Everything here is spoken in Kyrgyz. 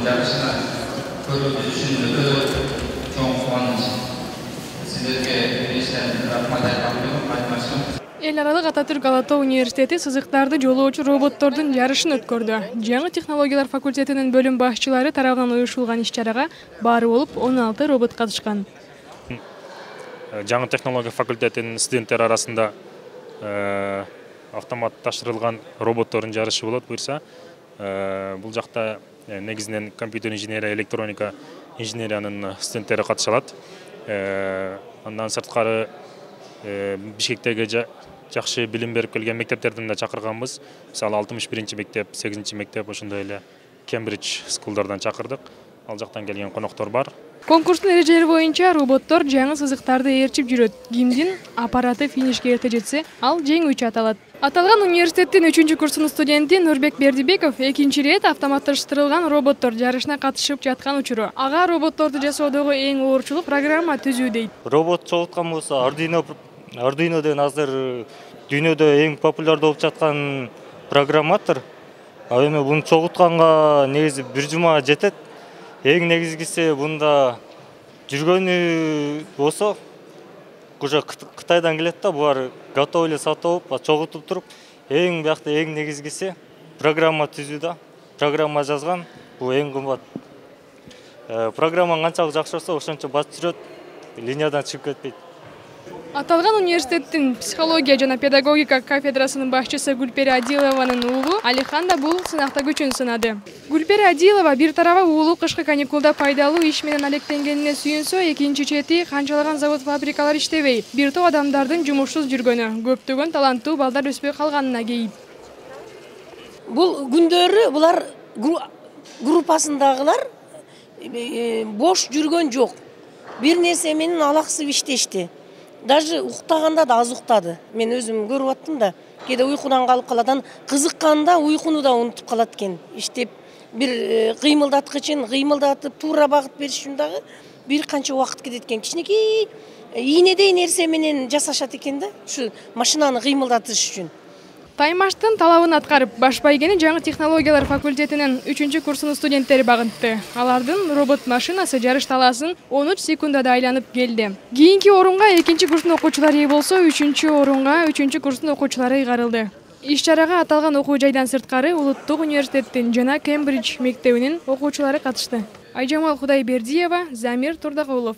роботтордун жарышына көрүүбүз үчүн өтө чоң кубаныч. Сиздерге бириштен рахмат айтмакчымын. Эл аралык Ататүрк Ала Тоо университети сызыктарды жолоочу роботтордун жарышын өткөрдү. Жаңы технологиялар факультетинин бөлүм башчылары тарабынан уюштурулган иш-чарага баары болуп 16 робот катышкан. Жаңы технология факультетинин студенттери арасында автоматташтырылган роботтордун жарышы болот буюрса. Бул жакта негизинен компьютер инженерия, электроника инженериянын студенттери катыша алат. Андан сырткары Бишкектеги жакшы билим берип келген мектептерден да чакырганбыз. Мисалы 61 мектеп, 8 мектеп, ошондой эле Кембридж скулдардан чакырдык. Ал жактан келген коноктор бар. Конкурстун эрежелери боюнча роботтор жаңы сызыктарды ээрчип жүрөт. Кимдин аппараты финишке эрте жетсе, ал жеңүүчү аталат. Аталган университеттин 3-курсунун студенти Нурбек Бердибеков экинчи ирет автоматташтырылган роботтор жарышына катышып жаткан учуру. Ага роботторду жасоодогу эң оорчулук программа түзүү дейт. Робот чогулткан болсо Arduino деген азыр дүйнөдө эң популярдуу болуп жаткан программатор. Ал эми буну чогултканга негизи бир жума жетет. Эң негизгиси бунда жүргөнү болсо, уже Кытайдан келет да, булар готов эле сатып алып, чогултуп туруп, эң биякта эң негизгиси программа түзүүдө, программа жазган, бул эң кымбат. Программа канчалык жакшы болсо, ошончо басып жүрөт, линиядан чыгып кетпейт. Аталган университеттин психология жана педагогика кафедрасынын башчысы Гүлпери Адилованын уулу Алихан да бул сынакта күчүн сынады. Гүлпери Адилова бир тарабы уулу кышкы каникулда пайдалуу иш менен алектенгенине сүйүнсө, экинчи чети канчалаган завод-фабрикалар иштебей, бир топ адамдардын жумушсуз жүргөнү, көптөгөн таланттуу балдар өспөй калганына кейип. Бул күндөрү булар группасындагылар бош жүргөн жок. Бир нерсе менен алаксып иштешти. Даже уктаганда да аз уктады. Мен өзүм көрүп аттым да. Кээде уйкудан калып каладан, кызыкканда уйкуну да унутуп калат экен. Иштеп бир кыймылдаткычын кыймылдатып туура багыт бериш үчүн дагы бир канча убакыт кетет экен. Кичинекей ийнедей нерсе менен жасашат экен да, ушу машинаны кыймылдатыш үчүн. Таймаштын талабын аткарып, баш байгени жаңы технологиялар факультетинин 3-курсунун студенттери багынтты. Алардын робот машинасы жарыш талаасын 13 секундада айланып келди. Кийинки орунга 2-курстун окуучулары ээ болсо, 3-орунга 3-курстун окуучулары ыйгарылды. Иш-чарага аталган окуу жайдан сырткары Улуттук университеттин жана Кембридж мектебинин окуучулары катышты. Айжамал Кудайбердиева, Замир Турдагулов.